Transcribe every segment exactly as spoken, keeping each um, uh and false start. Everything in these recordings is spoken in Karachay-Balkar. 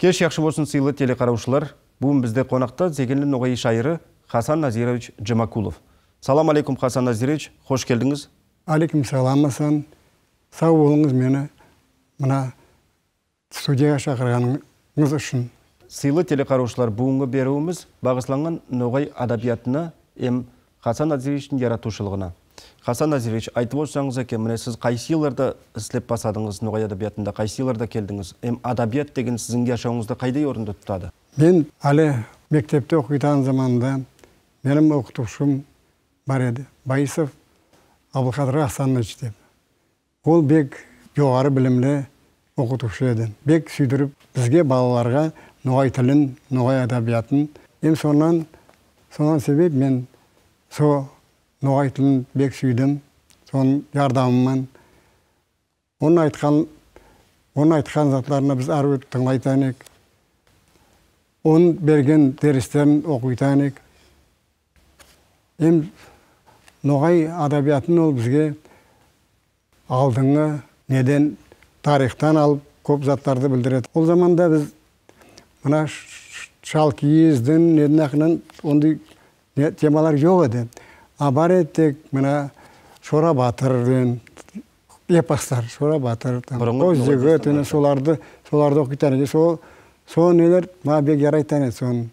Кеч яхшы болсун, сыйлы телекъараучулар. Бюгюн бизде къонакъда зегенли ногъай шаири Хасан Назирович Джумакулов. Салам алейкум, Хасан Назирович, хош келдинgiz. Алейкум салам, Хасан. Сау болугъуз мени мына студиягъа чакъыргъаныгъыз ючюн. Сыйлы телекъараучулар, бюгюннгю бериуюбюз багъышланнган ногъай адабиятына эм Хасан Назировични яратыучулугъуна. Хасан Назирович, айтыб озсагъыз экен, мына сиз къайсы йылларда излеб басладыгъыз ногъай адабиятында, къайсы йылларда келдигиз? Эм адабият деген сизни яшауугъузда къайдай орунну тутады? Мен али мектебде окъуйгъан заманда меним окъутуучум бар эди, Баисов Абдулкъадыр Хасанович деб. Ол бек джогъары билимли окъутуучу эди. Бек сюйдюрюб бизге, балаларгъа, ногъай тилин, ногъай адабиятын. Эм сондан, сондан себеб мен со ногъай тилин бек сюйдюм. Сону ярдамы ман. Ону айтхан, ону айтхан затларына биз ары тынгылайтан эдик. Ону берген дерислерин окъуйтан эдик. Эм ногъай адабиятын ол бизге алдынгы неден, тарихдан алыб, кёб затланы билдиреди. Ол заманда биз мына ш-, ш-, Шалкийизден, неден акъырын ондай не-, темалар джокъ эди. А бар эди тек мына Шора Батыр деген эпослар, Шора Батыр, там, Къоз джигит, энди соларды, соларды окъуйтан эдик. Со-, со нелер манга бек ярайтан эди, сон-,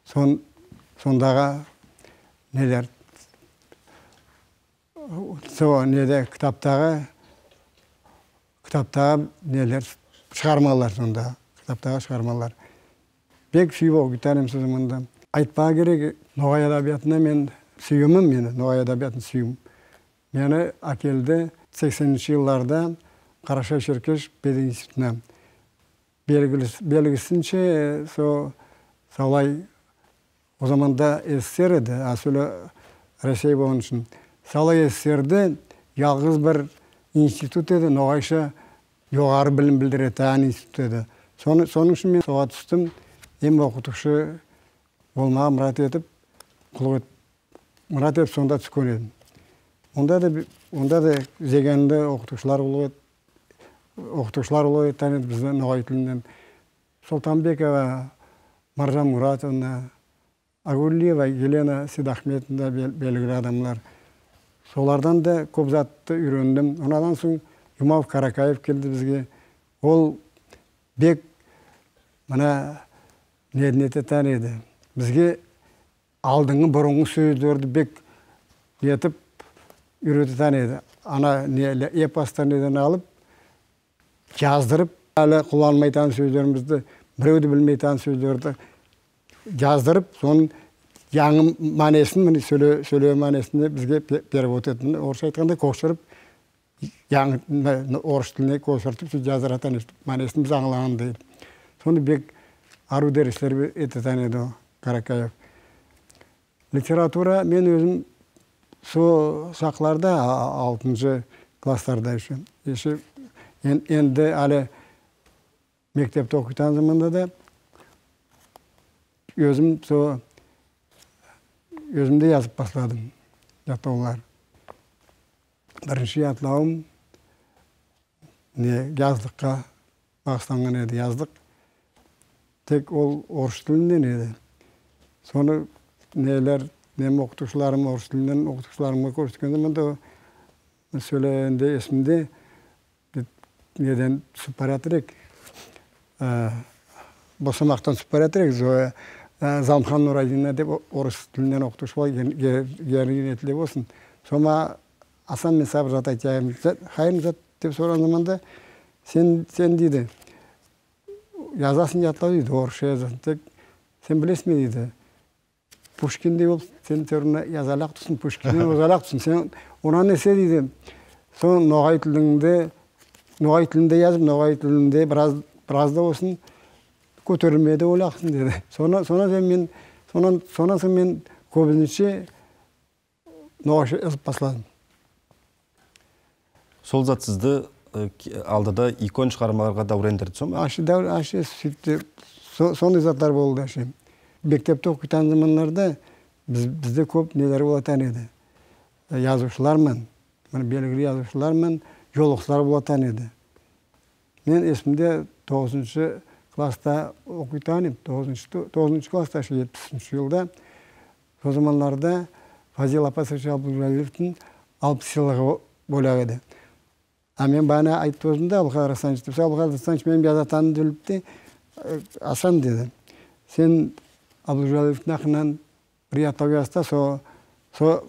сон-, сондагъы нелер. Со неде, китабдагъы, китабдагъы нелер, чыгъармалар сонда, китабдагъы чыгъармалар. Бек сюйюб окъуйтан эдим сизни мында. Айтмагъа керек, ногъай адабиятына мен сюйюмюм, мени ногъай адабиятына сюйюм. Мени акелди сексенинчи йылларда Къарашай-Шеркеш пединститутуна. Белгилис-, белгисинча, со-, саулай, ол заманда СССР эди, а сора Россия болгъан ючюн. Саулай СССР-де джалгъыз бир институт эди, ногъайча джогъары билим билдиретагъан институт эди. Сону, сону ючюн мен согъа тюшдюм, эм окъутуучу болмагъа мурат этиб, къуллукъ эт-, мурат этиб, сонда тюшген эдим. Онда да би-, онда да зегенли окъутуучулар къуллукъ эт-, окъутуучулар къуллукъ этген эди бизге ногъай тилинден. Солтанбекова Маржан Муратовна, Агулиева Елена Сидахметовна, бел-, белгили адамлар. Солардан да кёб затны юйрендим. Андан сонг Джумакулов Каракаев келди бизге. Ол бек, мына, не, не этетагъан эди. Бизге алдынгы, буруннгу сёзлени бек не этиб юйрететагъан эди. Ана, не, эпосдан неден алыб, джаздырыб, али къулланмайтагъан сёзлерибизни, биреу да билмейтагъан сёзлени джаздырыб, сону джангы маанисин, мына, сёле-, сёле маанисин бизге пе-, перевод этиб, орусча айтханда, кёчюрюб, джангы, м-, орус тилине кёчюртюб, сёз джаздыратагъан эди, маанисин биз ангылагъан эдик. Сонда бек ариу дерислер бе-, этетагъан эди ол Каракаев. Литература, мен ёзюм со чакъларда, а-, а-, алтынчы классларда ещё, ещё эн-, энди али мектебде окъуйтагъан заманда да ёзюм со, ёзюм да языб басладым джатлаулар. Биринчи джатлауум не, джазлыкъгъа багъышланнган эди, джазлыкъ. Тек ол орус тилинден эди. Сонг нелер, меним окъутуучуларым, орус тилинден окъутуучуларымгъа кёргюзтген заманда, сёлегенде эсимде, бир неден тюшюб баратыр эдик. Э, босамакъдан тюшюб баратыр эдик. Зоя, э, Залымхан Нурайдиновна деб о-, орус тилинден окъутуучу бар, гер-, гер-, герчи рахметли болсун. Сонг манга Хасан, мен сагъа бир зат айтайым. Зат, хайырлы зат деб сорагъан заманда, сен, сен, дейди, язасынг джатлау, дейди, орусча язасынг. Тек сен билесингми, дейди, Пушкиндей болуб, сен тёрюнде язаллыкъ тюлсюнг, Пушкинден озаллыкъ тюлсюнг. Сен андан эсе, дейди, сен ногъай тилинде, ногъай тилинде языб, ногъай тилинде бираз, бираз да болсун кётерилмеге да боллукъсунг, деди. Сонг, сонг сен мен, сонг, сонг сен мен кёбюнче ногъайча языб басладым. Сол зат сизди, э, ки-, алдыда эки он чыгъармаларгъа даурендирди, сонг? Ашы, даур-, ашы, сюйдю, со-, сондай затлар болду, ашы. Мектебде окъуйтагъан заманларда биз, бизде кёб нелер болатагъан эди. Э, языучулар ман, мына, белгили языучулар ман джолукъушуулар болатагъан эди. Мен эсимде, тогъузунчу классда окъуйтан эдим, тогъузунчу, тогъузунчу классда, шу етмиш ючюнчю джылда. Сол заманларда Фазил Апасович Абдулжалиловну алпыс джыллыгъы боллукъ эди. А мен баягъы айтыб турдум да, Абдулкъадыр Хасанович деб, Абдулкъадыр Хасанович мени бир зат да билибди, э, Хасан, деди. Сен Абдулжалиловну хакъындан бир ятлау язса, со, со,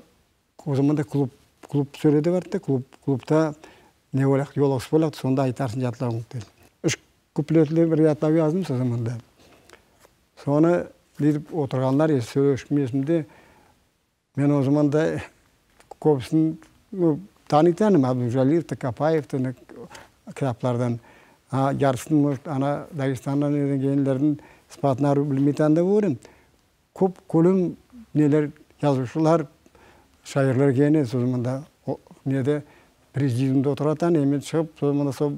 ол заманда клуб, клуб сёледи барды да, клуб, клубда не боллукъ, джолугъушуб боллукъ, сонда айтарса джатлаунгу, деди. Юч куплетли бир ятлау яздым сол заманда. Сора, деди, олтургъанлар, э, сёлешгеним эсимде, мен ол заманда кёбюсюн, ну, таныйтан эдим, Абдулжалиловну, Капаевни, не, китаблардан. А, джарсысын, может, ана Дагестандан келгенлени сыфатына билмейтан да болур эдим. Кёб кёлем нелер, джазыучулар, шаирле келген эди ол заманда. Ол, неде, президиумда олтургъанды, э, мен чыгъыб, ол заманда сол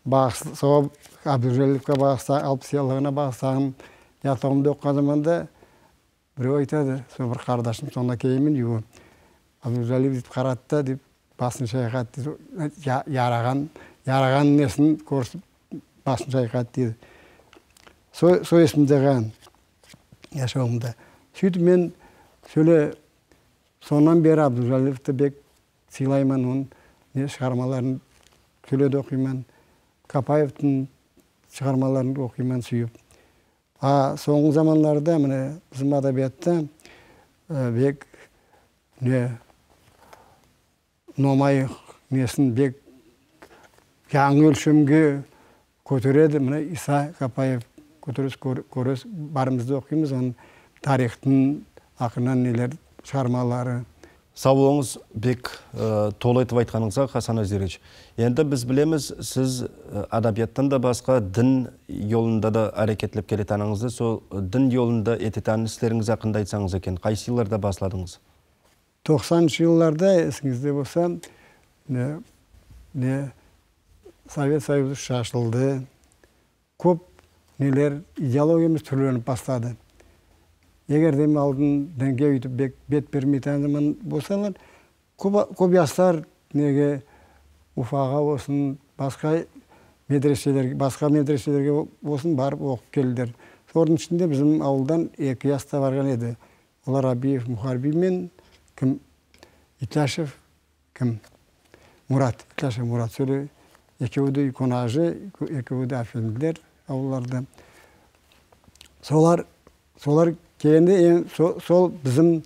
багъыс-, сол Абдулжалиловгъа багъысла-, алпыс джыллыгъына багъыслагъан ятлаууму окъугъан заманда, биреу айтады, сол бир къардашым, сонда келгенме, джууукъ. Абдулжалилов деб къарады да, деб, башын чайкъады, деб, я-, ярагъан, ярагъан несин кёргюзтюб, башын чайкъады, деди. Со-, сол эсимде къалгъан джашауумда. Сюйтюб мен сёле сондан бери Абдулжалиловну бек сыйлайман, ону не чыгъармаларын сёле да окъуйман, Капаевни чыгъармаларын окъуйман сюйюб. А сонгу заманларда, мына, бизим адабиятда, э, бек, не, Номай несин бек джангы ёлчемге кётереди. Мына, Иса Капаев кётересе, кёр-, кёресе, барыбыз да окъуйбуз, ону тарихни хакъындан нелер, чыгъармалары. Сау болугъуз, бек, э, толу этиб айтханыгъызгъа, Хасан Азирович. Энди биз билебиз, сиз, э, адабиятдан да басха, дин джолунда да аракетлеб келетаныгъызды. Сол, э, дин джолунда этетагъан ишлеригиз хакъында айтсагъыз экен, къайсы джылларда басладыгъыз? Токъсанынчы джылларда, эсигизде болса, не, не, Совет Союзу чачылды. Кёб нелер, идеологиябыз тюрлениб башлады. Эгер да эм алгъын динге ёйтюб бек-, бет бермейтагъан заман болсала, кёб, кёб джашлар неге, Уфагъа болсун, басха медреселерге, басха медреселерге болсун, барыб окъуб келдиле. Сора ичинде бизим ауылдан эки джаш да баргъан эди. Олар Абиев Мухарбий мен, ким, Итляшев, ким, Мурат, Итляшев Мурат. Сора экеуи да юйкенажи, экеуи да афендиле ауыллада. Солар, солар келгенде, эм, со-, сол бизим,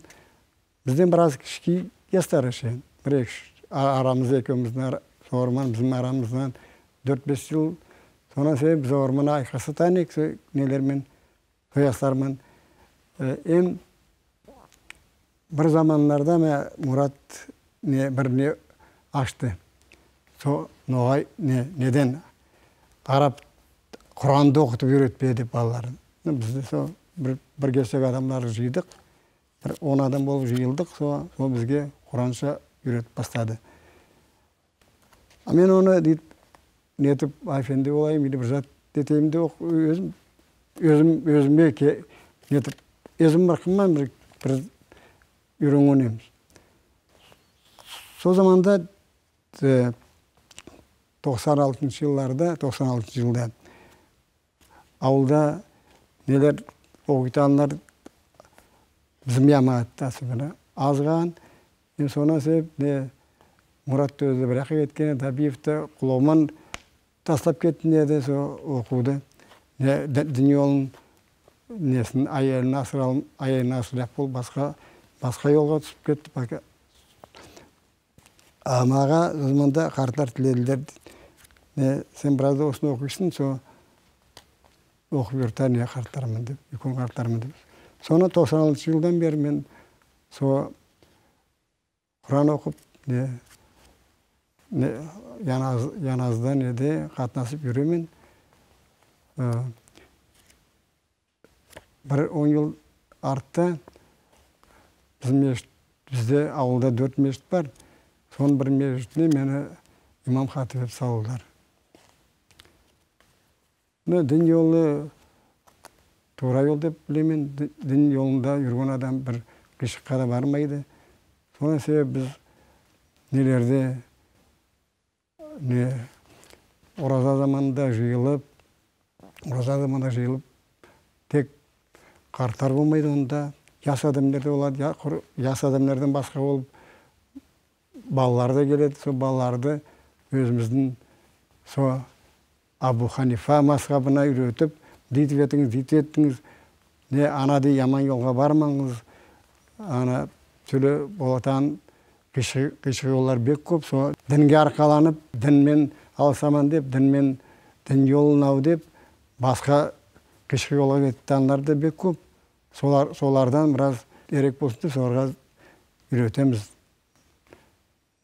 бизден бир аз кичи джашлары эсе. Бир эки, а-, арабызда экеуюбюзню ара-, сора бизим арабыздан дёрт-беш джыл. Сора себеб биз орманнга айкъасхан эдик, со-, нелер мен, Къыясларман. Э, эм бир заманларда ма Мурат не, бир не ачды. Со ногъай не, неден, къараб, Къуранны окъутуб юретмеге деб балаларын. Биз да со бир, бир кесек адамланы джыйдыкъ. Бир он адам болуб джыйылдыкъ. Со, со бизге къуранча юретиб башлады. А мен ону, дейди, нетиб, афенди болайым, или бир зат этейим деб окъ-, ёзюм, ёзюм, ёзюме ке-, нетиб, ёзюм бир къымман бир, бир юреннгенем. Сол заманда, э, токъсан алтынчы джылларда, токъсан алтынчы джылда Ауылда нелер, окъуйтанлар бизим джамагъатда сыгъыны азгъан. Эм сора себеб не, Мурат да ёзю бир джакъгъа кетген, Табиев да къулугъуман ташлаб кетдим деди, со окъууну. Не, ди-, дин джолун, несин, аялын асырал-, аялын асыраллыкъ болуб, басха, басха джолгъа тюшюб кетди, пока. А магъа ол заманда къартлар тиледиле, не, сен бир аз да осуну окъуйсун, со окъуб юрютер, не, къартларымы деб, юйкен къартларымы деб. Сора токъсан алтынчы джылдан бери мен со Къуран окъуб, не, не, джаназ-, джаназада, неде къатнашыб юрюйме. Э, Бир он джыл артда бизни межгит-, бизде ауылда дёрт межгит бар. Сора бир межгитни мени имам-хатиб этиб салдыла. Мына дин джолу туура джол деб билеме. Ди-, дин джолунда джюрюген адам бир къыйынлыкъгъа да бармайды. Сора себеб биз нелерде не, ораза заманында джыйылыб, ораза заманда жыйылып, тек къартлар болмайды онда, яс адамлар да болады, я-, къуру яс адамлардан басха болуп, балалары да келеди, сол балаларды ёзюбюздю сол Абу Ханифа мазхабына юйретип, зыйып этигиз, зыйып этигиз, не, аны дей, яман ёлгъа бармагъыз, аны тюрлю болатагъан къыйшы-, къыйшыгъыулар бек кёп. Сол динге аркъаланып, дин мен алысама деп, дин мен, дин ёлуна деп, басха къыйшыгъыулгъа кететаганлар да бек кёп. Солар, солардан бираз эрек болсун деп, соларгъа юйретебиз.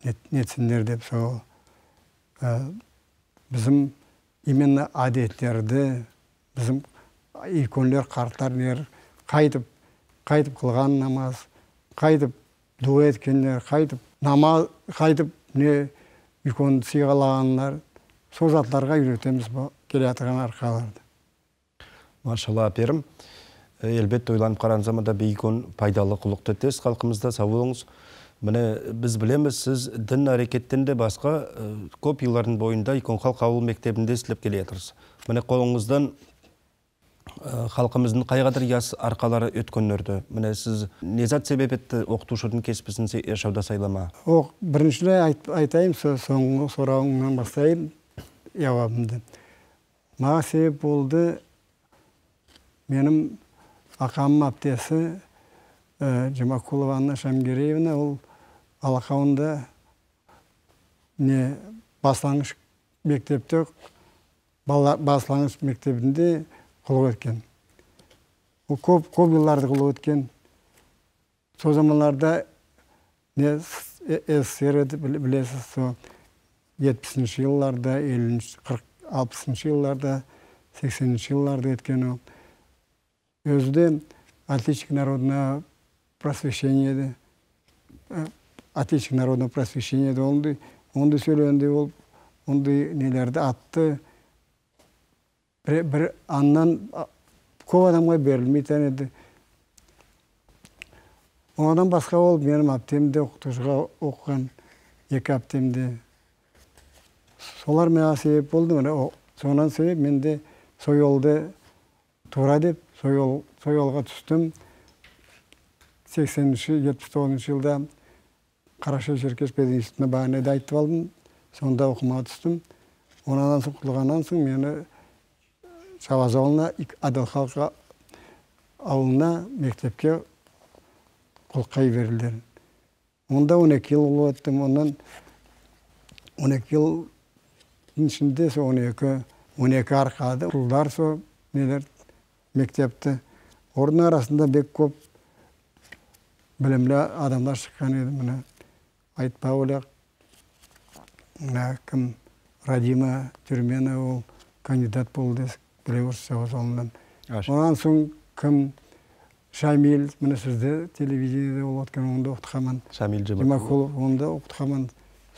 Нет-, нетсинлер деп, сол, э, бизим именно адетлерди, бизим юйкенлер, къартлар нелер, къайтып, къайтып къылгъан намаз, къайтып дуа этгенлер, къайтып намаз, къайтып не, юйкенни сыйпагъанлар, сол затлагъа юйретебиз бу келеятыргъан аркъаларды. Машалла, аперим. Э, элбетте, ойланып къарагъан заманда бек кёп пайдалы къуллукъ этесиз халкъыбызгъа, сау болугъуз. Мына, биз билебиз, сиз дин арекетинден да басха, э, кёп жылланы боюнда Юйкен халкъ аууул мектебинде ишлеп келеятырсыз. Мына, къолугъуздан, э, халкъыбызны къайгъыдыр яс аркъалары ётгенлерди. Мына, сиз не зат себеп этди окъутуучуну кеспин сиз жашауда сайламагъа? Окъ, биринчилей айт-, айтайым, со-, сонгу сорууларынгдан башлайым жууабымды. Магъа себеп болду, меним акъамы аптеси, э, Джумакулова Анна Шамгереевна, ол Алакъауунда не, башлангыч мектепде, бала-, башлангыч мектебинде къуллукъ этген. Ол кёп, кёп жылларды къуллукъ этген. Сол заманларда не, с-, э-, СССР эди, бил-, билесиз, сол етмишинчи жылларда, эллинчи, къыркъ, алпысынчы жылларда, сексенинчи жылларда этген ол. Ёзю да отличник народного просвещения эди. Э, отличник народного просвещения эди. Онда, онда сёлегенде ол, онда нелерди атды. Бир, бир андан, а, кёп адамгъа берилмей тургъан эди. Андан басха ол меним аптемде окъутуучугъа окъугъан, эки аптемде. Солар магъа себеп болду, мына, о, сондан себеп мен да сол ёлда тура деп, сол ёл, сол ёлгъа тюшдюм. Сексенинчи, етмиш тогъузунчу жылда Къарашай-Шеркеш пединститутуна, бары да айтып алдым. Сонда окъумагъа тюшдюм. Андан сонг, къутулгъандан сонг мени Чабаза ауулуна, Ик-, Адил халкъ аууулуна мектепге къуллукъгъа жибердиле. Онда он эки жыл къуллукъ этдим. Андан он эки жылны ичинде, сол он эки, он эки аркъады. Къутулдула сол нелер, мектепде. Оланы арасында бек кёп билимли адамла чыкъгъан эди, мына. Айтпа боллукъ, мына ким, Радима Тюрменова, ол кандидат болду, билебиз, Чабаза ауулундан. Аша. Андан сонг ким, Шамил, мына сизде телевидениеде болуп атхан, онда окъутханман. Шамил Джумакулов. Джумакулов, онда окъутханман.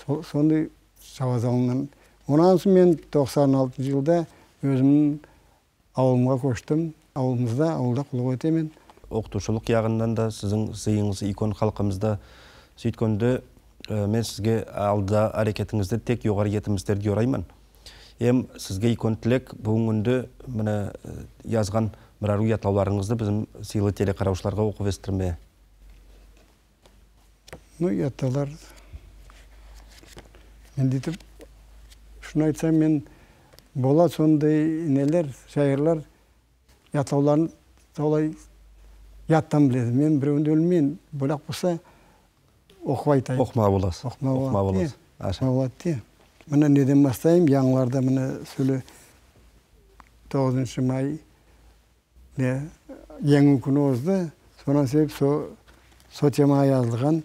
Со-, сонда Чабаза ауулундан. Андан сонг мен токъсан алтынчы жылда ёзюмню ауулума кёчдюм. Ауулубузда, ауулда къуллукъ этеме. Окъутуучулукъ жагъындан да сизни сыйыгъыз юйкен халкъыбызда. Сюйткенде, э, мен сизге алда арекетигизде тек жогъары жетимишле тилерге орайман. Эм сизге юйкен тилек, бюгюн кюнде мына, э, жазгъан бир арыу ятлауларыгъызны бизни сыйлы телекъараучулагъа окъуп эсдирмеге. Ну, ятлаулар. Мен да этип, шуну айтсам, мен бола сондай нелер, шаирле ятлауларын солай ятдан биледи. Мен биреуюн да билмейме, боллукъ болса, окъуп айтайым. Окъумагъа боласыз. Окъумагъа болады. Окъумагъа болады. Э, аша. Окъумагъа болады, э. Мына неден башлайым, жангыларда, мына, сёле тогъузунчу май, не, жангы кюн озду. Сондан себеп со-, со темагъа жазылгъан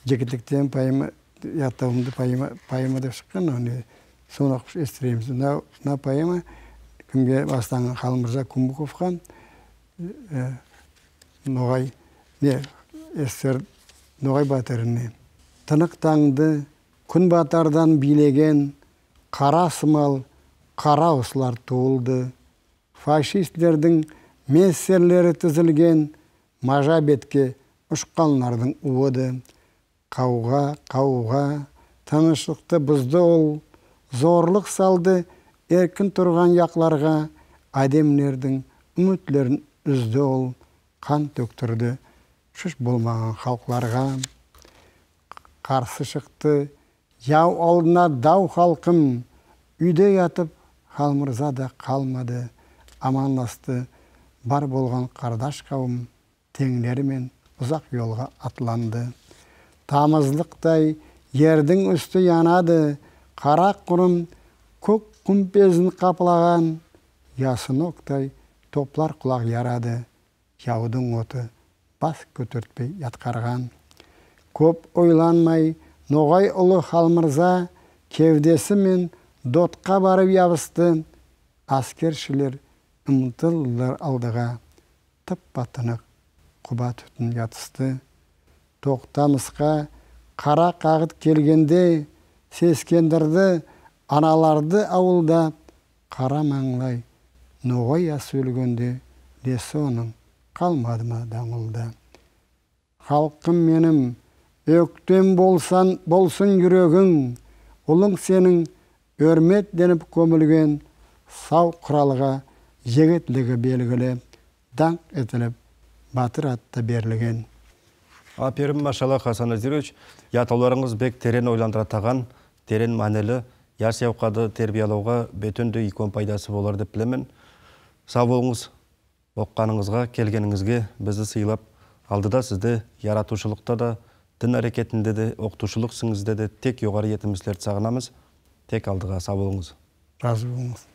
«Жигитлик» деген поэма, ятлауумду, поэма, поэма деп чыкъгъан, аны сора окъуп эсдиребиз. Мына, мына поэма кимге башланнган? Халмырза Кумбуковгъа, э, ногъай, не, СССР ногъай батырына. Тыныкъ тангды, кюн батардан бийлеген къара сымал къара услар туулду. Фашистлердинг мессерлери тизилген, мажа бетге учханлардынг ууду. Къаугъа, къаугъа, тынчлыкъды бузду ол, зорлукъ салды эркин тургъан жакъларгъа, Адамларыны юйютлерин юзде ол, къан тёкдюрдю чуч болмагъан халкъларгъа. Къарсы чыкъды яу алдына дау халкъым. Юйде ятып, Халмырза да къалмады. Аманлашды бар болгъан къардаш къауум. Тенглери мен узакъ ёлгъа атланды. Тамызлыкъдай ердинг юсю янады. Къара къурум кёк къумпезин къаплагъан. Ясынокъдай топлар къулакъ ярады. Яудунг оту бас кётертпей яткъаргъан. Кёп ойланмай, ногъай улу Халмырза кеудеси мен дотха барып ябысды. Аскерчилер ымтылдылар алдыгъа. Тып-тыныгъы къуба тютюн ятысты. Тохтамыскъа къара къагъыт келгенде, сескендирди аналарды аулда. Къара манглай ногъай асы ёлгенде, лесонунг къалмадымы дангылда? Халкъым меним, ёктем болсун, болсун юрегинг, улунг сенинг ёрметленип кёмюлген, сау къуралгъа жигитлиги белгили, дангъ этилип, батыр ат да берилген. Аперим, машалла, Хасан Азирович, ятыуларыгъыз бек терен ойландыратагъан, терен маанили, яш зауукъланы тербиялаугъа бютюндюй кёп пайдасы болур деп билеме. Сау болугъуз. Окъугъаныгъызгъа, келгенигизге, бизни сыйлап, алдыда сизде, яратыучулукъда да, дин арекетинде да, окъутуучулукъ исинде да тек ёгъары етимликлерди сагъынабыз. Тек алдыгъа, сау болугъуз. Разы болугъуз.